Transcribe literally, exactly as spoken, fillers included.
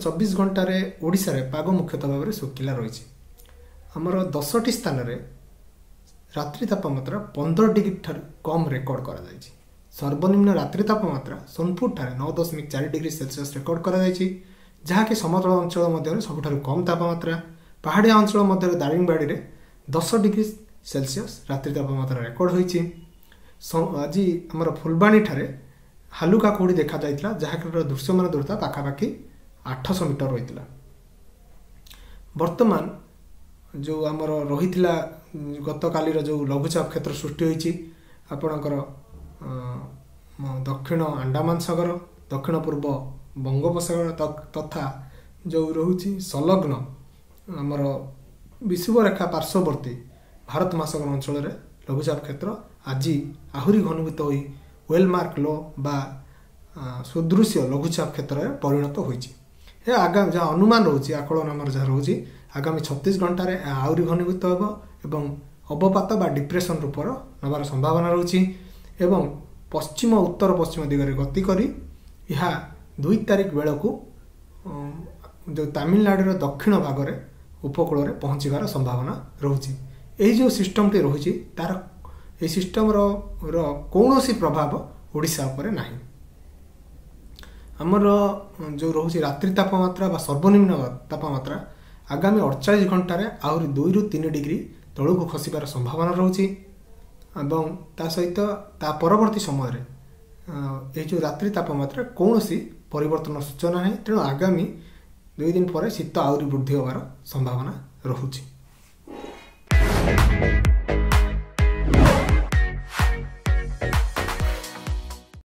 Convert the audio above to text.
ଚବିଶ ଘଣ୍ଟାରେ ଓଡ଼ିଶାରେ ପାଗ ମୁଖ୍ୟତଃ ଭାବରେ ଶୁଖିଲା ରହିଛି। ଆମର ଦଶଟି ସ୍ଥାନରେ ରାତ୍ରି ତାପମାତ୍ରା ପନ୍ଦର ଡିଗ୍ରୀ ଠାରୁ କମ୍ ରେକର୍ଡ କରାଯାଇଛି। ସର୍ବନିମ୍ନ ରାତ୍ରି ତାପମାତ୍ରା ସୋନପୁରଠାରେ ନଅ ଦଶମିକ ଚାରି ଡିଗ୍ରୀ ସେଲସିୟସ୍ ରେକର୍ଡ କରାଯାଇଛି, ଯାହାକି ସମତଳ ଅଞ୍ଚଳ ମଧ୍ୟରେ ସବୁଠାରୁ କମ୍ ତାପମାତ୍ରା। ପାହାଡ଼ିଆ ଅଞ୍ଚଳ ମଧ୍ୟରେ ଦାରିଙ୍ଗବାଡ଼ିରେ ଦଶ ଡିଗ୍ରୀ ସେଲସିୟସ୍ ରାତ୍ରି ତାପମାତ୍ରା ରେକର୍ଡ ହୋଇଛି। ଆଜି ଆମର ଫୁଲବାଣୀଠାରେ ହାଲୁକା କୁହୁଡ଼ି ଦେଖାଯାଇଥିଲା, ଯାହାକି ଦୃଶ୍ୟମାନ ଦୂରତା ପାଖାପାଖି ଆଠଶହ ମିଟର ରହିଥିଲା। ବର୍ତ୍ତମାନ ଯେଉଁ ଆମର ରହିଥିଲା ଗତକାଲିର ଯେଉଁ ଲଘୁଚାପ କ୍ଷେତ୍ର ସୃଷ୍ଟି ହୋଇଛି ଆପଣଙ୍କର ଦକ୍ଷିଣ ଆଣ୍ଡାମାନ ସାଗର, ଦକ୍ଷିଣ ପୂର୍ବ ବଙ୍ଗୋପସାଗର ତଥା ଯେଉଁ ରହୁଛି ସଂଲଗ୍ନ ଆମର ବିଷୁବରେଖା ପାର୍ଶ୍ୱବର୍ତ୍ତୀ ଭାରତ ମହାସାଗର ଅଞ୍ଚଳରେ ଲଘୁଚାପ କ୍ଷେତ୍ର ଆଜି ଆହୁରି ଘନୀଭୂତ ହୋଇ ୱେଲମାର୍କ ଲୋ ବା ସୁଦୃଶ୍ୟ ଲଘୁଚାପ କ୍ଷେତ୍ରରେ ପରିଣତ ହୋଇଛି। ଏହା ଆଗାମୀ ଯାହା ଅନୁମାନ ରହୁଛି, ଆକଳନ ଆମର ଯାହା ରହୁଛି, ଆଗାମୀ ଛତିଶ ଘଣ୍ଟାରେ ଏହା ଆହୁରି ଘନୀଭୂତ ହେବ ଏବଂ ଅବପାତ ବା ଡିପ୍ରେସନ୍ ରୂପର ନେବାର ସମ୍ଭାବନା ରହୁଛି ଏବଂ ପଶ୍ଚିମ ଉତ୍ତର ପଶ୍ଚିମ ଦିଗରେ ଗତି କରି ଏହା ଦୁଇ ତାରିଖ ବେଳକୁ ଯେଉଁ ତାମିଲନାଡ଼ୁର ଦକ୍ଷିଣ ଭାଗରେ ଉପକୂଳରେ ପହଞ୍ଚିବାର ସମ୍ଭାବନା ରହୁଛି। ଏହି ଯେଉଁ ସିଷ୍ଟମଟି ରହୁଛି ତାର ଏହି ସିଷ୍ଟମର ର କୌଣସି ପ୍ରଭାବ ଓଡ଼ିଶା ଉପରେ ନାହିଁ। ଆମର ଯେଉଁ ରହୁଛି ରାତ୍ରି ତାପମାତ୍ରା ବା ସର୍ବନିମ୍ନ ତାପମାତ୍ରା ଆଗାମୀ ଅଡ଼ଚାଳିଶ ଘଣ୍ଟାରେ ଆହୁରି ଦୁଇରୁ ତିନି ଡିଗ୍ରୀ ତଳକୁ ଖସିବାର ସମ୍ଭାବନା ରହୁଛି ଏବଂ ତା ସହିତ ତା ପରବର୍ତ୍ତୀ ସମୟରେ ଏହି ଯେଉଁ ରାତ୍ରି ତାପମାତ୍ରା କୌଣସି ପରିବର୍ତ୍ତନ ସୂଚନା ନାହିଁ। ତେଣୁ ଆଗାମୀ ଦୁଇ ଦିନ ପରେ ଶୀତ ଆହୁରି ବୃଦ୍ଧି ହେବାର ସମ୍ଭାବନା ରହୁଛି।